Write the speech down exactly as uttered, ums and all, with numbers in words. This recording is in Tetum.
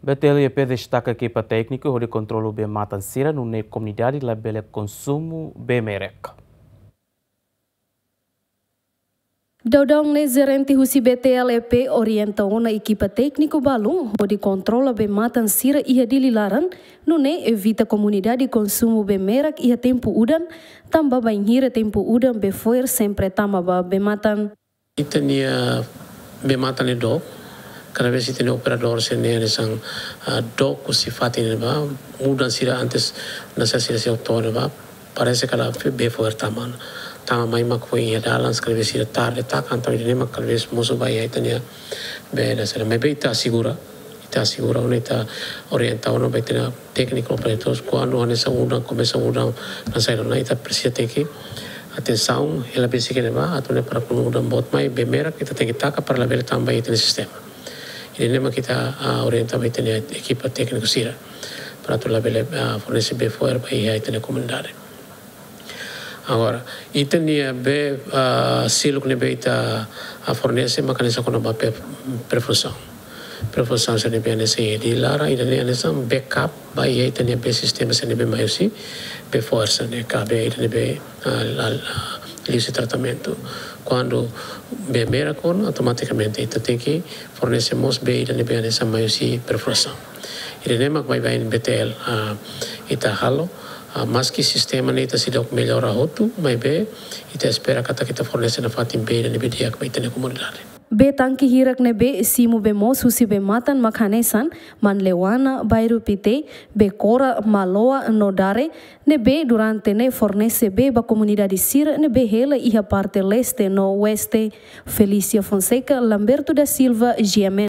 B T L E P destaka ekipa tékniku hodi kontrola bee-matan sira nune'e komunidade labele konsumu bee merek. Daudaun ne'e jerente husi B T L E P orienta ona ekipa tékniku balun hodi kontrola bee-matan sira iha Dili laran, nune'e evita komunidade konsumu bee merek iha tempu udan, tanba bainhira tempu udan bee fo'er sempre tama ba bee-matan. Ita-nia bee-matan ne'e dook, kada vez ita-nia operadór sira-ne'e hanesan, ah, dook husi fatin ne'ebá, mudan sira antes, nasa sira sei oto ne'ebá, parese kala bee fo'er tama. Tama mai mak foin iha dalan, kada vez sira tarde taka, entaun ida-ne'e mak kada vez mosu ba iha ita-nia bee hanesan ne'e. Maibé ita asegura, ita asegura ona, ita orienta ona ba ita-nia tékniku operadór, kuandu hanesan udan, komesa udan, hanesan ne'e ita presiza tenke atensaun, hela besik iha ne'ebá, atu nune'e para kuandu udan boot mai, bee merek ita tenke taka para labele tama ba iha ita-nia sistema. Ida-ne'e mak ita, ah, orienta ba ita-nia ekipa tékniku sira para atu labele, ah, fornese bee fo'er ba iha ita-nia komunidade. Agora, ita-nia bee, ah, seluk ne'ebé ita, ah, fornese mak hanesan kona-ba pe-, perfuzaun. Perfuzaun sira ne'ebé hanesan iha Dili laran, ida-ne'e hanesan backup ba iha ita-nia bee sistema sira ne'ebé mai husi bee fo'er sira-ne'e, ka bee ida ne'ebé, ah, la, la, liuhusi tratamentu. Kuandu bee merek ona, automatikamente ita tenke fornese mós bee ida ne'ebé hanesan mai husi perfuzaun. Ida-ne'e mak baibain B T L, ah, ita halo, ah, maski sistema ne'e ita seidauk mellora hotu, maibé ita espera katak ita fornese nafatin bee ida ne'ebé di'ak ba ita-nia komunidade. Bee tanke hirak ne'ebé simu bee moos husi bee-matan mak hanesan Manleuana, Bairru Pité, Bekora, Maloa no Dare, ne'ebé durante ne'e fornese bee ba komunidade sira ne'ebé hela iha parte leste no oeste. Felícia Fonseca, Lamberto da Silva, G M N.